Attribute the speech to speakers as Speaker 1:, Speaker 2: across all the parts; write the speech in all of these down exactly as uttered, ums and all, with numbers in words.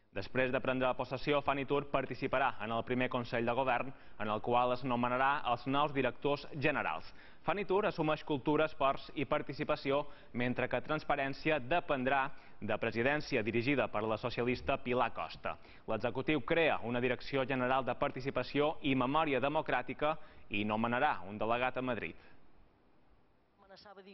Speaker 1: Després de prendre possessió, Fanitur participarà en el primer Consell de Govern, en el qual es nomenarà els nous directors generals. Fanitur assumeix Cultura, Esports i Participació, mentre que Transparència dependrà de Presidència dirigida per la socialista Pilar Costa. L'executiu crea una Direcció General de Participació i Memòria Democràtica i nomenarà un delegat a Madrid.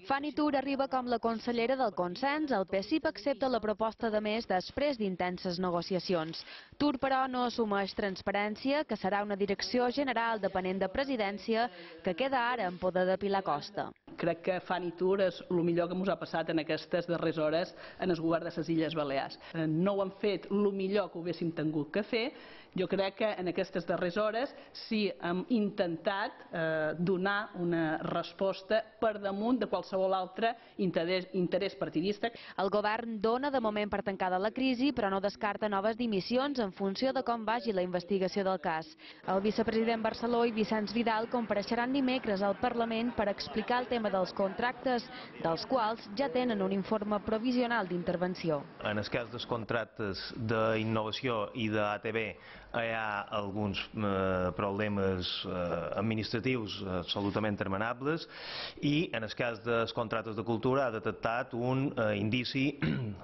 Speaker 2: Fanitur arriba com la consellera del consens. El P S I P accepta la proposta de més després d'intenses negociacions. Tur, però, no assumeix Transparència, que serà una direcció general depenent de Presidència, que queda ara en poder de Pilar Costa.
Speaker 3: Crec que Fanitur és el millor que ens ha passat en aquestes darreres hores en el govern de les Illes Balears. No ho han fet el millor que ho haguéssim tingut que fer. Jo crec que en aquestes darreres hores sí hem intentat eh, donar una resposta per damunt de qualsevol altre interès, interès partidista.
Speaker 2: El govern dona de moment per tancada la crisi, però no descarta noves dimissions en funció de com vagi la investigació del cas. El vicepresident Barceló i Vicenç Vidal compareixeran dimecres al Parlament per explicar el tema dels contractes, dels quals ja tenen un informe provisional d'intervenció.
Speaker 4: En el cas dels contractes d'innovació i d'A T V hi ha alguns eh, problemes eh, administratius absolutament terminables i en el cas dels contractes de cultura ha detectat un eh, indici,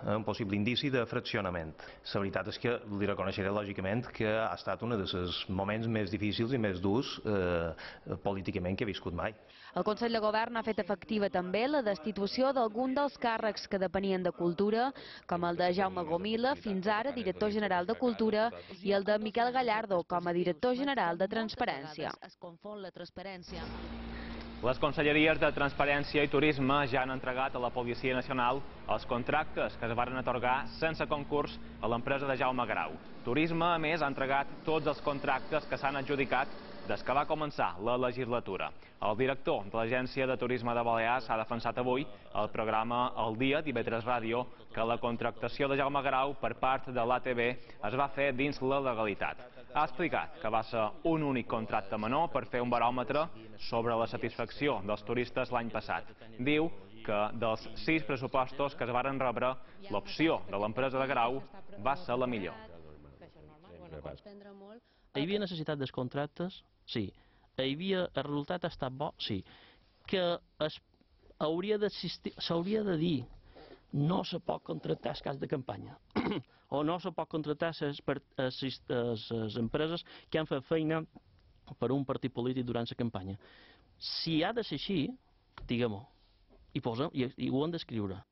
Speaker 4: un possible indici de fraccionament. La veritat és que li reconeixeré lògicament que ha estat un dels moments més difícils i més durs eh, políticament que he viscut mai.
Speaker 2: El Consell de Govern ha fet efectiva també la destitució d'algun dels càrrecs que depenien de Cultura, com el de Jaume Gomila, fins ara director general de Cultura, i el de Miquel Gallardo, com a director general de Transparència.
Speaker 1: Les conselleries de Transparència i Turisme ja han entregat a la Policia Nacional els contractes que es varen atorgar sense concurs a l'empresa de Jaume Grau. Turisme, a més, ha entregat tots els contractes que s'han adjudicat des que va començar la legislatura. El director de l'Agència de Turisme de Balears ha defensat avui al programa El Dia, d'I V tres Ràdio, que la contractació de Jaume Grau per part de l'A T V es va fer dins la legalitat. Ha explicat que va ser un únic contracte menor per fer un baròmetre sobre la satisfacció dels turistes l'any passat. Diu que dels sis pressupostos que es varen rebre, l'opció de l'empresa de Grau va ser la millor.
Speaker 5: Hi havia necessitat dels contractes? Sí. Hi havia, el resultat ha estat bo? Sí. Que s'hauria de dir no se pot contractar el cas de campanya o no se pot contractar les empreses que han fet feina per un partit polític durant la campanya. Si ha de ser així, diguem-ho, i ho hem d'escriure.